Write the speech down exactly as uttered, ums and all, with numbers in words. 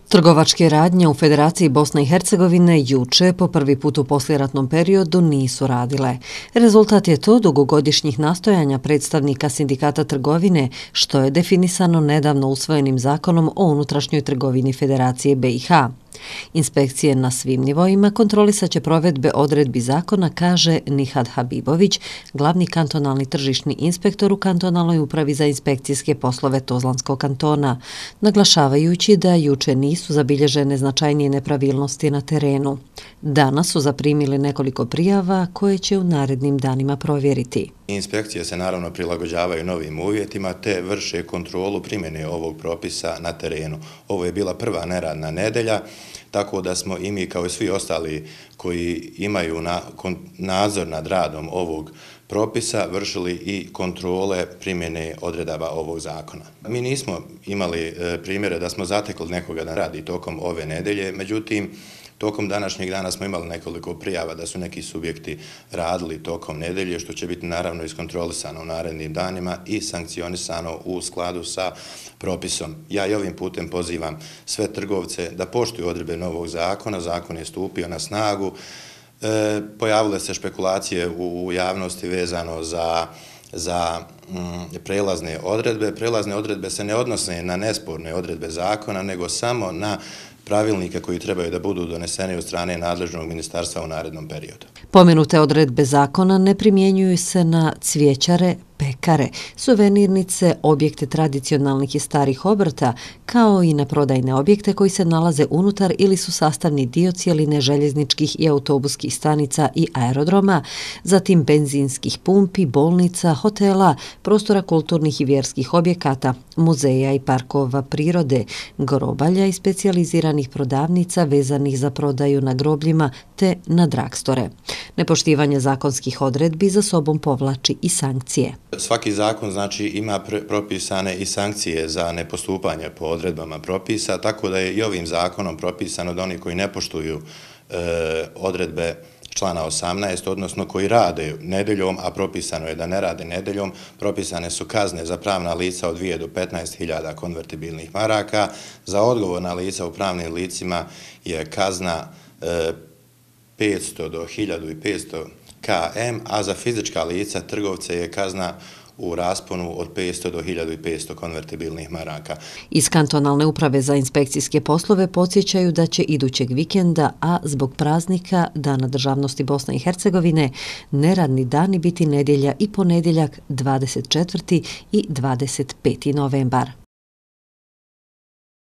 Trgovačke radnje u Federaciji Bosne i Hercegovine juče po prvi put u poslijeratnom periodu nisu radile. Rezultat je to dugogodišnjih nastojanja predstavnika Sindikata trgovine, što je definisano nedavno usvojenim zakonom o unutrašnjoj trgovini Federacije B i H. Inspekcije na svim nivoima kontrolisat će provedbe odredbi zakona, kaže Nihad Habibović, glavni kantonalni tržišni inspektor u kantonalnoj upravi za inspekcijske poslove Tuzlanskog kantona, naglašavajući da juče nisu zabilježene značajnije nepravilnosti na terenu. Danas su zaprimili nekoliko prijava koje će u narednim danima provjeriti. Inspekcije se naravno prilagođavaju novim uvjetima te vrše kontrolu primjene ovog propisa na terenu. Ovo je bila prva neradna nedelja, tako da smo i mi kao i svi ostali koji imaju na, kon, nadzor nad radom ovog propisa vršili i kontrole primjene odredaba ovog zakona. Mi nismo imali e, primjere da smo zatekli nekoga da radi tokom ove nedelje, međutim, tokom današnjeg dana smo imali nekoliko prijava da su neki subjekti radili tokom nedelje, što će biti naravno iskontrolisano u narednim danima i sankcionisano u skladu sa propisom. Ja i ovim putem pozivam sve trgovce da poštuju odredbe novog zakona. Zakon je stupio na snagu. E, pojavile se špekulacije u javnosti vezano za za mm, prelazne odredbe. Prelazne odredbe se ne odnose na nesporne odredbe zakona, nego samo na pravilnike koji trebaju da budu doneseni od strane nadležnog ministarstva u narednom periodu. Pomenute odredbe zakona ne primjenjuju se na cvijećare, pekare, suvenirnice, objekte tradicionalnih i starih obrta, kao i na prodajne objekte koji se nalaze unutar ili su sastavni dio cijeline željezničkih i autobuskih stanica i aerodroma, zatim benzinskih pumpi, bolnica, hotela, prostora kulturnih i vjerskih objekata, muzeja i parkova prirode, grobalja i specijaliziranih prodavnica vezanih za prodaju na grobljima te na dragstore. Nepoštivanje zakonskih odredbi za sobom povlači i sankcije. Svaki zakon znači ima propisane i sankcije za nepostupanje po odredbama propisa, tako da je i ovim zakonom propisano da oni koji ne poštuju e, odredbe člana osamnaest, odnosno koji rade nedeljom, a propisano je da ne rade nedeljom, propisane su kazne za pravna lica od dvije do petnaest hiljada konvertibilnih maraka, za odgovorna lica u pravnim licima je kazna e, petsto do hiljadu petsto km, a za fizička lica trgovce je kazna u rasponu od petsto do hiljadu petsto konvertibilnih maraka. Iz kantonalne uprave za inspekcijske poslove podsjećaju da će idućeg vikenda, a zbog praznika Dana državnosti Bosne i Hercegovine, neradni dani biti nedjelja i ponedjeljak dvadeset četvrti i dvadeset peti novembar.